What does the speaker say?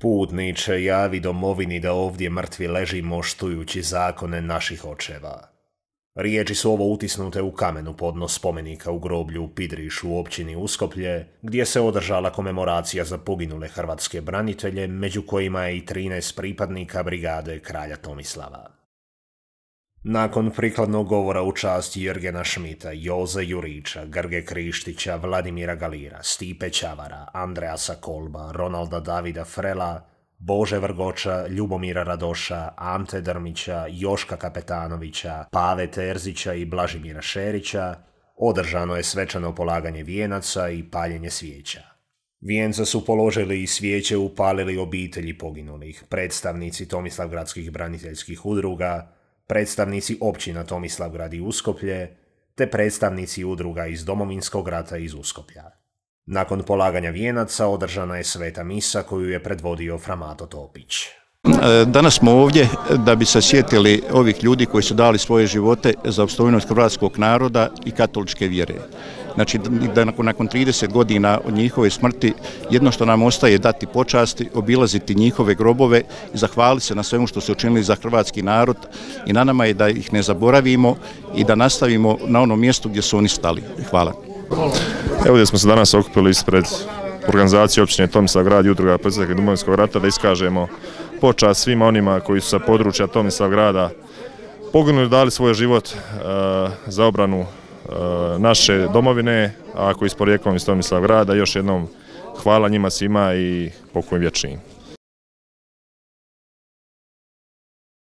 Putniče, javi domovini da ovdje mrtvi ležimo štujući zakone naših očeva. Riječi su ovo utisnute u kamenu podnos spomenika u groblju u Pidrišu u općini Uskoplje, gdje se održala komemoracija za poginule hrvatske branitelje, među kojima je i 13 pripadnika brigade kralja Tomislava. Nakon prikladnog govora u čast Jurgena Šmita, Joze Jurića, Grge Krištića, Vladimira Galira, Stipe Ćavara, Andreasa Kolba, Ronalda Davida Frela, Bože Vrgoča, Ljubomira Radoša, Ante Drmića, Joška Kapetanovića, Pave Terzića i Blažimira Šerića, održano je svečano polaganje vijenaca i paljenje svijeća. Vijence su položili i svijeće upalili obitelji poginulih, predstavnici Tomislavgradskih braniteljskih udruga, predstavnici općina Tomislavgrad i Uskoplje, te predstavnici udruga iz Domovinskog rata iz Uskoplja. Nakon polaganja vijenaca održana je sveta misa koju je predvodio Fra Mato Topić. Danas smo ovdje da bi se sjetili ovih ljudi koji su dali svoje živote za opstojnost hrvatskog naroda i katoličke vjere. Znači da nakon 30 godina od njihove smrti jedno što nam ostaje dati počasti, obilaziti njihove grobove i zahvaliti se na svemu što su učinili za hrvatski narod i na nama je da ih ne zaboravimo i da nastavimo na onom mjestu gdje su oni stali. Hvala. Evo gdje smo se danas okupili ispred organizacije općine Tomislavgrad i udruga proizašlih iz Domovinskog rata da iskažemo počast svima onima koji su sa područja Tomislavgrada poginuli, dali svoj život za obranu naše domovine, a koji s porijeklom iz Tomislavgrada. Još jednom hvala njima svima i pokoj vječni.